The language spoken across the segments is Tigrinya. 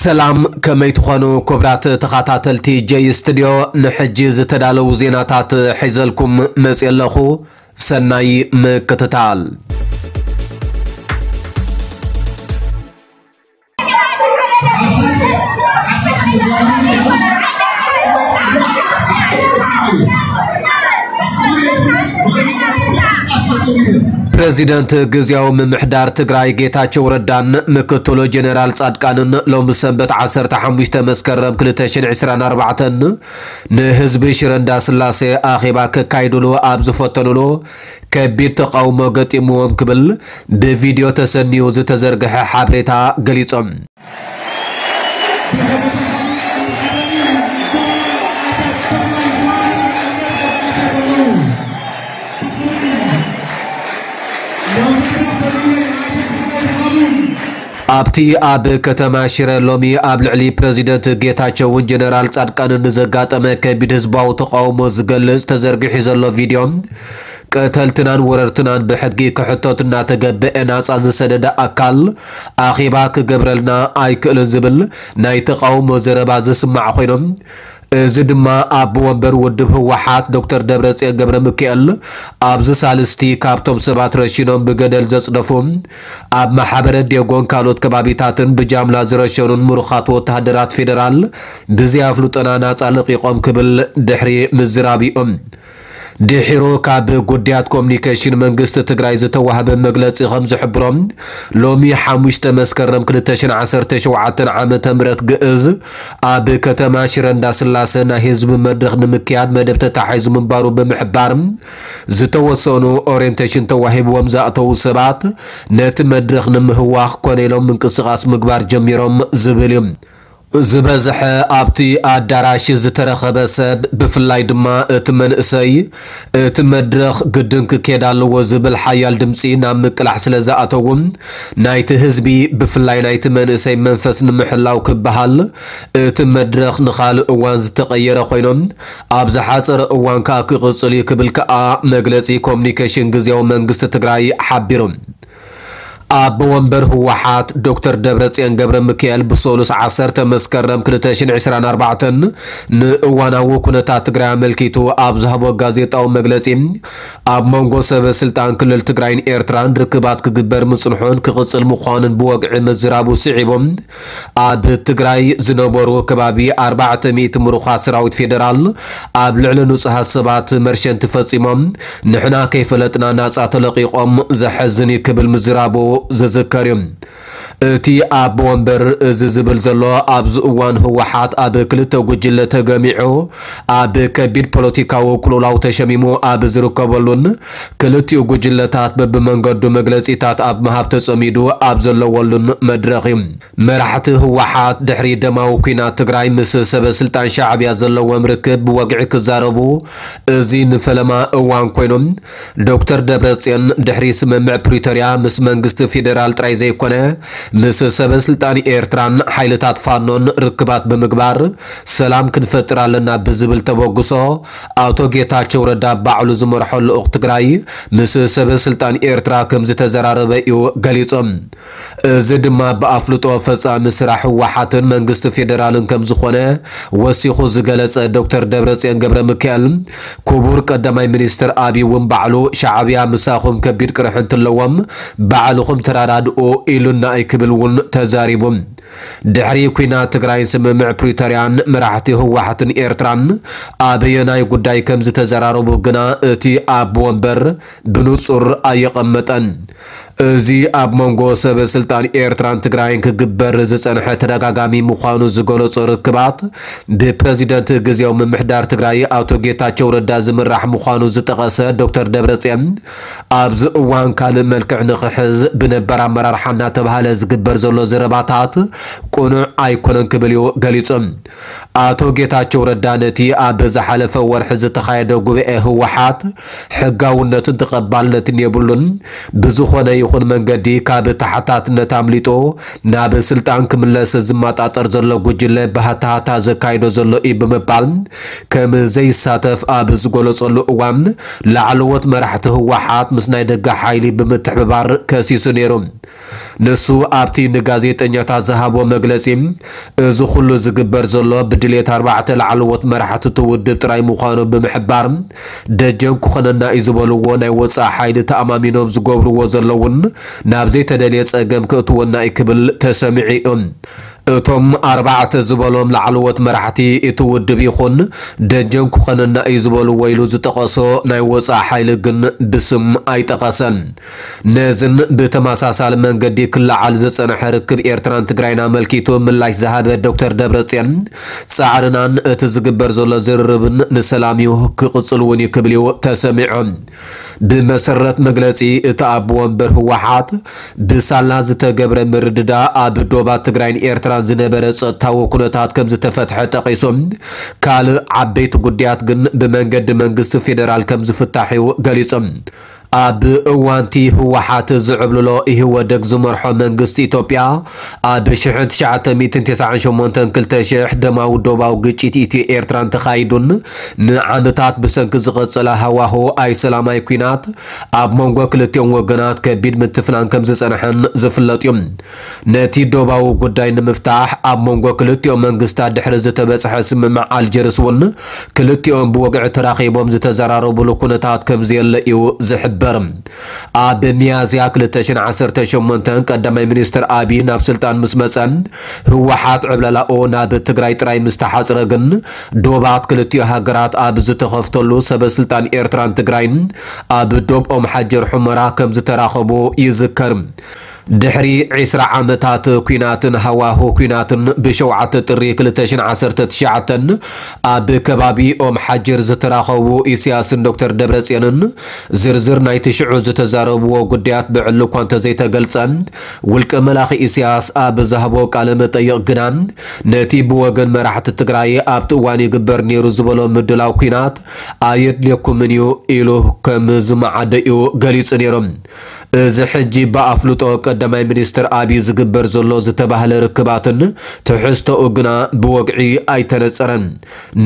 ሰላም፣ ከመይ ትኾኑ ክቡራት ተኸታተልቲ ጀይ ስቱድዮ? ንሕጂ ዝተዳለዉ ዜናታት ሒዘልኩም መፅየ ኣለኹ። ሰናይ ምክትታል። ፕረዚደንት ግዝያዊ ምምሕዳር ትግራይ ጌታቸው ረዳን ምክትሉ ጀነራል ጻድቃንን ሎሚ ሰንበት ዓሰርተ ሓሙሽተ መስከረም ክልተ ሽሕን ዕስራን ኣርባዕተን ንህዝቢ ሽረ እንዳስላሴ ኣኼባ ከካይዱሉ ኣብ ዝፈተኑሉ ከቢድ ተቃውሞ ገጢምዎም ክብል ብቪድዮ ተሰንዩ ዝተዘርግሐ ሓበሬታ ገሊጾም። ኣብቲ ኣብ ከተማ ሽረ ሎሚ ኣብ ልዕሊ ፕረዚደንት ጌታቸውን ጀነራል ጻድቃንን ንዘጋጠመ ከቢድ ህዝባዊ ተቃውሞ ዝገልጽ ተዘርጊሑ ዘሎ ቪድዮ፣ ቀተልትናን ወረርትናን ብሕጊ ክሕተቱ እናተገበአ ናጻ ዝሰደደ ኣካል ኣኼባ ክገብረልና ኣይክእልን ዝብል ናይ ተቃውሞ ዘረባ ዝስማዕ ኮይኖም፣ እዚ ድማ ኣቦ ወንበር ውድብ ህወሓት ዶክተር ደብረጽዮን ገብረ ሚካኤል ኣብዚ ሳልስቲ ካብቶም ሰባት ረሺኖም ብገደል ዘጽደፉ፣ ኣብ ማሕበረ ዴጎን ካልኦት ከባቢታትን ብጃምላ ዝረሸኑን ምሩኻት ወተሃደራት ፌደራል ብዘይ ኣፍልጦና ናጻ ለቒቖም ክብል ድሕሪ ምዝራብ እዩ። ድሒሩ ካብ ጉዳያት ኮሙኒኬሽን መንግስቲ ትግራይ ዝተዋህበ መግለጺ ከም ዝሕብሮ፣ ሎሚ ሓሙሽተ መስከረም ክልተ ሽሕን ዓሰርተ ሸውዓተን ዓመተ ምህረት ግእዝ ኣብ ከተማ ሽረ እንዳስላሰ ናይ ህዝቢ መድረኽ ንምክያድ መደብ ተታሒዙ ምንባሩ ብምሕባር፣ ዝተወሰኑ ኦሪየንቴሽን ተዋሂብዎም ዝኣተዉ ሰባት ነቲ መድረኽ ንምህዋኽ ኮነ ኢሎም ምንቅስቓስ ምግባር ጀሚሮም ዝብል እዩ። ዝበዝሐ ኣብቲ ኣዳራሽ ዝተረኸበ ሰብ፣ ብፍላይ ድማ እቲ መንእሰይ፣ እቲ መድረኽ ግድን ክኬድ ኣለዎ ዝብል ሓያል ድምጺ ናብ ምቅላሕ ስለ ዝኣተዉ፣ ናይቲ ህዝቢ፣ ብፍላይ ናይቲ መንእሰይ መንፈስ ንምሕላው ክበሃል፣ እቲ መድረኽ ንኻልእ እዋን ዝተቐየረ ኮይኖም፣ ኣብ ዝሓጸረ እዋን ከኣ ክቕጽል እዩ ክብል ከኣ መግለጺ ኮሙኒኬሽን ግዝያዊ መንግስቲ ትግራይ ሓቢሩ። ኣቦ ወንበር ህወሓት ዶክተር ደብረጽዮን ገብረ ሚካኤል ብሰሉስ ዓሰርተ መስከረም ክልተ ሽሕን ዕስራን ኣርባዕተን ንእዋናዊ ኩነታት ትግራይ ኣመልኪቱ ኣብ ዝሃቦ ጋዜጣዊ መግለጺ፣ ኣብ መንጎ ሰበ ስልጣን ክልል ትግራይን ኤርትራን ርክባት ክግበር ምጽንሑን ክቕጽል ምዃኑን ብወግዒ ምዝራቡ ስዒቡ፣ ኣብ ትግራይ ዝነበሩ ከባቢ ኣርባዕተ ሚእቲ ምሩኻት ሰራዊት ፌደራል ኣብ ልዕሊ ንጹሃት ሰባት መርሸንቲ ፈጺሞም፣ ንሕና ከይፈለጥና ናጻ ተለቒቖም፣ ዘሐዝን እዩ ክብል ምዝራቡ ዝዝከር እዩ። እቲ ኣቦ ወንበር እዚ ዝብል ዘሎ ኣብዚ እዋን ህወሓት ኣብ ክልተ ጉጅለ ተገሚዑ ኣብ ከቢድ ፖለቲካዊ ቅልውላው ተሸሚሙ ኣብ ዝርከበሉን ክልቲኡ ጉጅለታት በብመንገዱ መግለጺታት ኣብ ምሃብ ተጸሚዱ ኣብ ዘለወሉን መድረኽ እዩ። መራሕቲ ህወሓት ድሕሪ ደማዊ ኲናት ትግራይ ምስ ሰበ ስልጣን ሻዕብያ ዘለዎም ርክብ ብወግዒ ክዛረቡ እዚ ንፈለማ እዋን ኮይኖም፣ ዶክተር ደብረጽዮን ድሕሪ ስምምዕ ፕሪቶርያ ምስ መንግስቲ ፌደራል ጥራይ ዘይኮነ፣ ምስ ሰበ ስልጣን ኤርትራን ሓይልታት ፋኖን ርክባት ብምግባር ሰላም ክንፈጥር ኣለና ብዝብል ተበግሶ፣ ኣቶ ጌታቸው ረዳ ባዕሉ ዝመርሖ ልኡኽ ትግራይ ምስ ሰበ ስልጣን ኤርትራ ከም ዝተዘራረበ እዩ ገሊጹ። እዚ ድማ ብኣፍልጦ ፈጻሚ ስራሕ ህወሓትን መንግስቲ ፌደራልን ከም ዝኾነ ወሲኹ ዝገለጸ ዶክተር ደብረጽዮን ገብረ ሚካኤል፣ ክቡር ቀዳማይ ሚኒስትር ኣብይ እውን ባዕሉ ሻዕብያ ምሳኹም ከቢድ ቅርሒ እንትለዎም ባዕልኹም ተራዳድኡ ኢሉና እዩ ክብል እውን ተዛሪቡ። ድሕሪ ኲናት ትግራይን ስምምዕ ፕሪቶርያን መራሕቲ ህወሓትን ኤርትራን ኣበየናይ ጉዳይ ከም ዝተዘራረቡ ግና እቲ ኣቦ ወንበር ብንጹር ኣየቐመጠን። እዚ ኣብ መንጎ ሰበ ስልጣን ኤርትራን ትግራይን ክግበር ዝጸንሐ ተደጋጋሚ ምዃኑ ዝገለጾ ርክባት፣ ብፕረዚደንት ግዝያዊ ምምሕዳር ትግራይ ኣቶ ጌታቸው ረዳ ዝምራሕ ምዃኑ ዝጠቐሰ ዶክተር ደብረጽዮን፣ ኣብዚ እዋን ካልእ መልክዕ ንኽሕዝ ብነባር ኣመራርሓ እናተባህለ ዝግበር ዘሎ ዘረባታት ቅኑዕ ኣይኮነን ክብል እዩ ገሊጹ። ኣቶ ጌታቸው ረዳ ነቲ ኣብ ዝሓለፈ ወርሒ ዝተኻየደ ጉባኤ ህወሓት ሕጋውነትን ተቐባልነትን የብሉን፣ ብዝኾነ ይኹን መንገዲ ካብ ተሓታትነት ኣምሊጡ ናብ ስልጣን ክምለስ ዝመጣጠር ዘሎ ጉጅለ ብሃታሃታ ዘካይዶ ዘሎ እዩ ብምባል ከም ዘይሳተፍ ኣብ ዝገለጸሉ እዋን፣ ላዕለዎት መራሕቲ ህወሓት ምስ ናይ ደገ ሓይሊ ብምትሕብባር ከሲሱ ነይሩ። ንሱ ኣብቲ ንጋዜጠኛታት ዝሃቦ መግለጺ፣ እዚ ኩሉ ዝግበር ዘሎ ብድሌት ኣርባዕተ ላዕለዎት መራሕቲ እቲ ውድብ ጥራይ ምዃኑ ብምሕባር፣ ደጀን ክኾነና እዩ ዝበልዎ ናይ ወጻኢ ሓይሊ ተኣማሚኖም ዝገብርዎ ዘለውን ናብ ዘይተደልየ ጸገም ክእትወና እዩ ክብል ተሰሚዑ እዩ። እቶም ኣርባዕተ ዝበሎም ላዕለዎት መራሕቲ እቲ ውድብ ይኹን ደጀን ክኾነና እዩ ዝበልዎ ኢሉ ዝጠቐሶ ናይ ወጻኢ ሓይሊ ግን ብስም ኣይጠቐሰን። ነዝን ብተመሳሳሊ መንገዲ ክለዓል ዝጸንሐ ርክብ ኤርትራን ትግራይን ኣመልኪቱ ምላሽ ዝሃበ ዶክተር ደብረጽዮን፣ ጻዕርናን እቲ ዝግበር ዘሎ ዝርርብን ንሰላም እዩ ክቕጽል እውን እዩ ክብል እዩ ተሰሚዑ። ብመሰረት መግለጺ እቲ ኣቦ ወንበር ህወሓት፣ ብሳላ ዝተገብረ ምርድዳእ ኣብ ዶባት ትግራይን ኤርትራን ዝነበረ ጸጥታዊ ኩነታት ከም ዝተፈትሐ ጠቒሱ፣ ካልእ ዓበይቲ ጉዳያት ግን ብመንገዲ መንግስቲ ፌደራል ከም ዝፍታሕ እዩ ገሊጹ። ኣብ እዋንቲ ህወሓት ዝዕብልሎ ኢህወደግ ዝመርሖ መንግስቲ ኢትዮጵያ፣ ኣብ ሽሕን ትሽዓተ ሚእትን ተስዓን ሸሞንተን ክልተ ሽሕ ደማዊ ዶባዊ ግጭት ኢትዮ ኤርትራን ተኻይዱን፣ ንዓመታት ብሰንኪ ዝቐጸለ ሃዋሁ ኣይሰላማይ ኲናት፣ ኣብ መንጎ ክልቲኦም ወገናት ከቢድ ምትፍናን ከም ዝጸንሐን ዝፍለጥ እዩ። ነቲ ዶባዊ ጉዳይ ንምፍታሕ ኣብ መንጎ ክልቲኦም መንግስታት ድሕሪ ዝተበጽሐ ስምምዕ ኣልጀርስ እውን፣ ክልቲኦም ብወግዒ ተራኺቦም ዝተዘራረቡሉ ኩነታት ከም ዘየለ እዩ ዝሕበር። ኣብ ሚያዝያ ክልተ ሽሕን ዓሰርተ ሸሞንተን ቀዳማይ ሚኒስትር ኣቢይ ናብ ስልጣን ምስ መጸ፣ ህወሓት ዕብለላኡ ናብ ትግራይ ጥራይ ምስ ተሓጽረ ግን፣ ዶባት ክልቲኡ ሃገራት ኣብ ዝተኸፍተሉ፣ ሰበ ስልጣን ኤርትራን ትግራይን ኣብ ዶብ ኦም ሓጀር ሑመራ ከም ዝተራኸቡ ይዝከር። ድሕሪ ዕስራ ዓመታት ኲናትን ሃዋሁ ኲናትን፣ ብሸውዓተ ጥሪ ክልተ ሽሕን ዓሰርተ ትሽዓተን ኣብ ከባቢ ኦም ሓጀር ዝተራኸቡ ኢሳያስን ዶክተር ደብረጽዮንን ዝርዝር ናይቲ ሽዑ ዝተዛረብዎ ጉዳያት ብዕሊ እኳ እንተዘይተገልጸ፣ ውልቀ መላኺ ኢሳያስ ኣብ ዝሃቦ ቃለ መጠይቕ ግና፣ ነቲ ብወገን መራሕቲ ትግራይ ኣብቲ እዋን ይግበር ነይሩ ዝበሎ ምድላው ኲናት ኣየድልየኩምን እዩ ኢሉ ከም ዝመዓደ እዩ ገሊጹ ነይሩ። እዚ ሕጂ ብኣፍልጦ ቀዳማይ ሚኒስትር ኣቢይ ዝግበር ዘሎ ዝተባህለ ርክባትን ትሕዝቶኡ ግና ብወግዒ ኣይተነጸረን።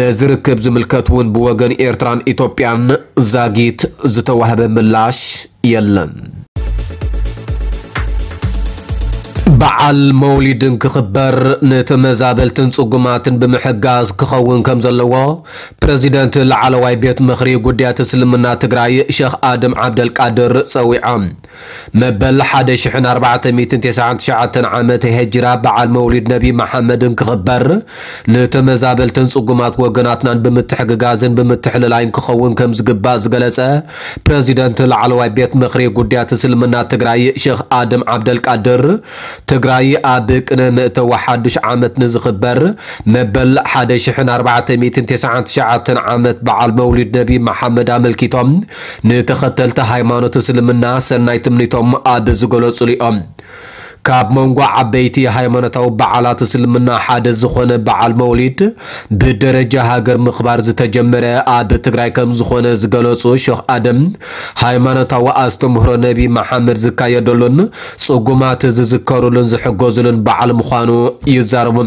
ነዚ ርክብ ዝምልከት እውን ብወገን ኤርትራን ኢትዮጵያን ዛጊት ዝተዋህበ ምላሽ የለን። በዓል መውሊድ እንክኽበር ንተመዛበልትን ጽጉማትን ብምሕጋዝ ክኸውን ከም ዘለዎ ፕረዚደንት ላዕለዋይ ቤት ምኽሪ ጉዳያት እስልምና ትግራይ ሸኽ ኣደም ዓብደልቃድር ጸዊዖም። መበል ሓደ ሽሕን ኣርባዕተ ሚእትን ተስዓን ትሽዓተን ዓመተ ሄጅራ በዓል መውሊድ ነቢ መሓመድ እንክኽበር ንተመዛበልትን ጽጉማት ወገናትናን ብምትሕግጋዝን ብምትሕልላይን ክኸውን ከም ዝግባእ ዝገለጸ ፕረዚደንት ላዕለዋይ ቤት ምኽሪ ጉዳያት እስልምና ትግራይ ሸኽ ኣደም ዓብደልቃድር፣ ትግራይ ኣብ ቅነ ምእተዊ ሓዱሽ ዓመት ንዝኽበር መበል ሓደ ሽሕን ኣርባዕተ ሚእትን ተስዓን ትሽዓተን ዓመት በዓል መውሊድ ነቢ መሓመድ ኣመልኪቶም፣ ንተኸተልቲ ሃይማኖት እስልምና ሰናይ ትምኒቶም ኣብ ዝገለጹሉ እዮም። ካብ መንጎ ዓበይቲ ሃይማኖታዊ በዓላት እስልምና ሓደ ዝኾነ በዓል መውሊድ፣ ብደረጃ ሃገር ምኽባር ዝተጀመረ ኣብ ትግራይ ከም ዝኾነ ዝገለጹ ሸኽ ኣደም፣ ሃይማኖታዊ ኣስተምህሮ ነቢ መሓመድ ዝካየደሉን ጽጉማት ዝዝከሩሉን ዝሕገዙሉን በዓል ምዃኑ ይዛረቡ።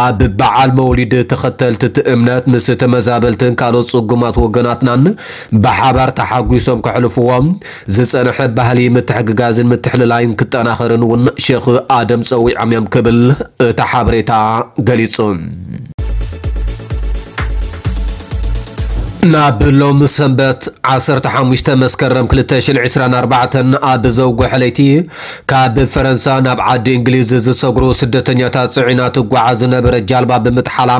ኣብ በዓል መውሊድ ተኸተልቲ እቲ እምነት ምስ ተመዛበልትን ካልኦት ጽጉማት ወገናትናን ብሓባር ተሓጒሶም ከሕልፍዎ ዝጸንሐ ባህሊ ምትሕግጋዝን ምትሕልላይን ክጠናኸርን እውን ሸኽ ኣደም ጸዊዖም እዮም ክብል እቲ ሓበሬታ ገሊጹ። ናብ ሎሚ ሰንበት ዓሰርተ ሓሙሽተ መስከረም ክልተ ሽሕን ዕስራን ኣርባዕተን ኣብ ዘውግሐ ለይቲ ካብ ፈረንሳ ናብ ዓዲ እንግሊዝ ዝሰግሩ ስደተኛታት ጽዒና ትጓዓዝ ዝነበረ ጃልባ ብምጥሓላ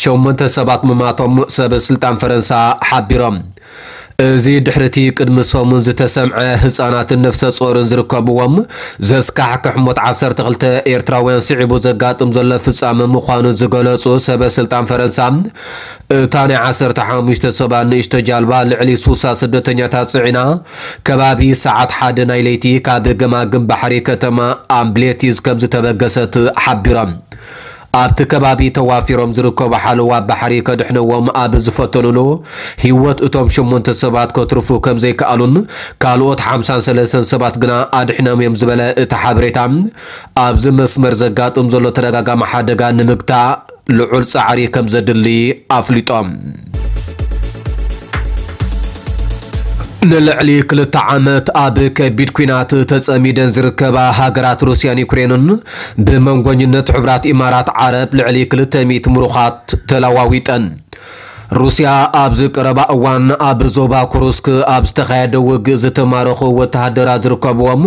ሸሞንተ ሰባት ምማቶም ሰበ ስልጣን ፈረንሳ ሓቢሮም። እዚ ድሕሪ እቲ ቅድሚ ሰሙን ዝተሰምዐ ህጻናትን ነፍሰ ጾርን ዝርከብዎም ዘስካሕክሕ ሞት ዓሰርተ ክልተ ኤርትራውያን ስዒቡ ዘጋጥም ዘሎ ፍጻመ ምዃኑ ዝገለጹ ሰበ ስልጣን ፈረንሳ፣ እታ ናይ ዓሰርተ ሓሙሽተ ሰባት ንእሽቶ ጃልባ ልዕሊ ሱሳ ስደተኛታት ጽዒና ከባቢ ሰዓት ሓደ ናይ ለይቲ ካብ ገማግም ባሕሪ ከተማ ኣምብሌቲዝ ከም ዝተበገሰት ሓቢሮም። ኣብቲ ከባቢ ተዋፊሮም ዝርከቡ ሓለዋ ባሕሪ ከድሕነዎም ኣብ ዝፈተኑሉ፣ ህይወት እቶም ሸሞንተ ሰባት ከትርፉ ከም ዘይከኣሉን ካልኦት ሓምሳን ሰለስተን ሰባት ግና ኣድሒኖም እዮም ዝበለ እቲ ሓበሬታ፣ ኣብዚ መስመር ዘጋጥም ዘሎ ተደጋጋሚ ሓደጋ ንምግታእ ልዑል ጻዕሪ ከም ዘድሊ ኣፍሊጦም። ንልዕሊ ክልተ ዓመት ኣብ ከቢድ ኲናት ተጸሚደን ዝርከባ ሃገራት ሩስያን ዩክሬንን ብመንጎኝነት ሕቡራት ኢማራት ዓረብ ልዕሊ ክልተ ሚእቲ ምሩኻት ተለዋዊጠን። ሩስያ ኣብዚ ቀረባ እዋን ኣብ ዞባ ኩሩስክ ኣብ ዝተኻየደ ውግእ ዝተማረኹ ወተሃደራት ዝርከብዎም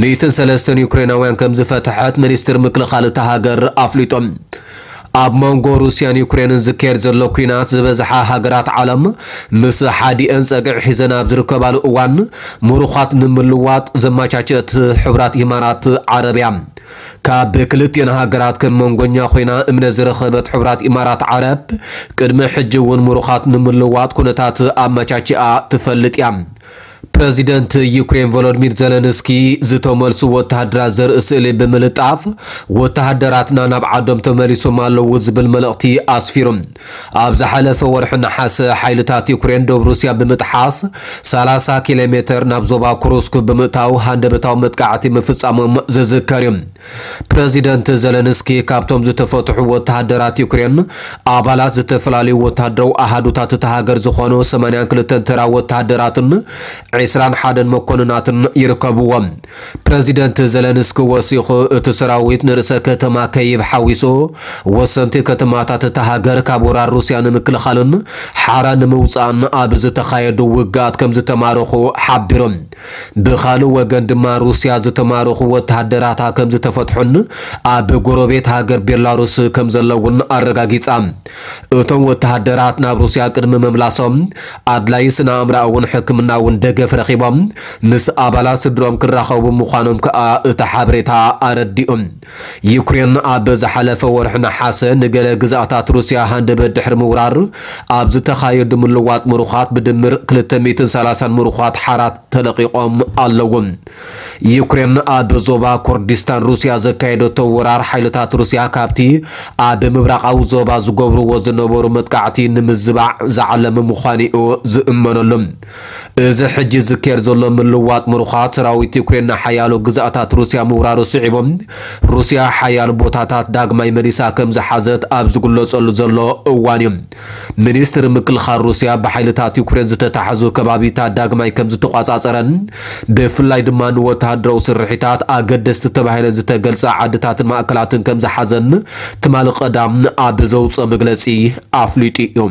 ሚእትን ሰለስተን ዩክሬናውያን ከም ዝፈትሐት ሚኒስትር ምክልኻል እታ ሃገር ኣፍሊጦም። ኣብ መንጎ ሩስያን ዩክሬንን ዝካየድ ዘሎ ኲናት ዝበዝሓ ሃገራት ዓለም ምስ ሓዲአን ጸግዒ ሒዘን ኣብ ዝርከባሉ እዋን ምሩኻት ንምልዋጥ ዘማቻቸት ሕቡራት ኢማራት ዓረብ እያ። ካብ ክልቲኤን ሃገራት ከም መንጎኛ ኮይና እምነት ዝረኸበት ሕቡራት ኢማራት ዓረብ ቅድሚ ሕጂ እውን ምሩኻት ንምልዋጥ ኩነታት ኣመቻችኣ ትፈልጥ እያ። ፕረዚደንት ዩክሬን ቮሎዲሚር ዘለንስኪ ዝተመልሱ ወተሃደራት ዘርኢ ስእሊ ብምልጣፍ ወተሃደራትና ናብ ዓዶም ተመሊሶም ኣለዉ ዝብል መልእኽቲ ኣስፊሩ። ኣብ ዝሓለፈ ወርሒ ነሓሰ ሓይልታት ዩክሬን ደቡብ ሩስያ ብምጥሓስ ሰላሳ ኪሎ ሜተር ናብ ዞባ ኩሩስክ ብምእታው ሃንደበታዊ መጥቃዕቲ ምፍጻሞም ዝዝከር እዩ። ፕረዚደንት ዘለንስኪ ካብቶም ዝተፈትሑ ወተሃደራት ዩክሬን ኣባላት ዝተፈላለዩ ወተሃደራዊ ኣሃዱታት እታ ሃገር ዝኾኑ ሰማንያን ክልተን ተራ ወተሃደራትን ዕስራን ሓደን መኮንናትን ይርከብዎም። ፕረዚደንት ዘለንስኪ ወሲኹ እቲ ሰራዊት ንርእሰ ከተማ ከይቭ ሓዊሱ ወሰንቲ ከተማታት እታ ሃገር ካብ ወራር ሩስያ ንምክልኻልን ሓራ ንምውጻእን ኣብ ዝተኻየዱ ውግኣት ከም ዝተማረኹ ሓቢሩ። ብኻልእ ወገን ድማ ሩስያ ዝተማረኹ ወተሃደራታ ከም ዝተፈትሑን ኣብ ጎረቤት ሃገር ቤላሩስ ከም ዘለውን ኣረጋጊጻ። እቶም ወተሃደራት ናብ ሩስያ ቅድሚ ምምላሶም ኣድላይ ስነ ኣእምራኣውን ሕክምናውን ደገፍ ረኺቦም ምስ ኣባላት ስድሮም ክራኸቡ ምዃኖም ከኣ እቲ ሓበሬታ ኣረዲኡ። ዩክሬን ኣብ ዝሓለፈ ወርሒ ነሓሰ ንገለ ግዝኣታት ሩስያ ሃንደበት ድሕሪ ምውራር ኣብ ዝተኻየዱ ምልዋጥ ምሩኻት ብድምር ክልተ ሚእትን ሰላሳን ምሩኻት ሓራት ተለቒቖም ኣለዉ። ዩክሬን ኣብ ዞባ ኩርዲስታን ሩስያ ዘካየደቶ ወራር ሓይልታት ሩስያ ካብቲ ኣብ ምብራቓዊ ዞባ ዝገብርዎ ዝነበሩ መጥቃዕቲ ንምዝባዕ ዝዓለመ ምዃኑ እዩ ዝእመነሉ። እዚ ሕጂ ዝካየድ ዘሎ ምልዋጥ ምሩኻት ሰራዊት ዩክሬን ንሓያሎ ግዝኣታት ሩስያ ምውራሩ ስዒቡ ሩስያ ሓያሎ ቦታታት ዳግማይ መሊሳ ከም ዝሓዘት ኣብ ዝግለጸሉ ዘሎ እዋን እዩ። ሚኒስትሪ ምክልኻል ሩስያ ብሓይልታት ዩክሬን ዝተታሕዙ ከባቢታት ዳግማይ ከም ዝተቋጻጸረን ብፍላይ ድማ ንወተሃደራዊ ስርሒታት ኣገደስቲ ተባሂለን ዝተገልጸ ዓድታትን ማእከላትን ከም ዝሓዘን ትማሊ ቀዳም ኣብ ዘውፅኦ መግለጺ ኣፍሊጡ እዩ።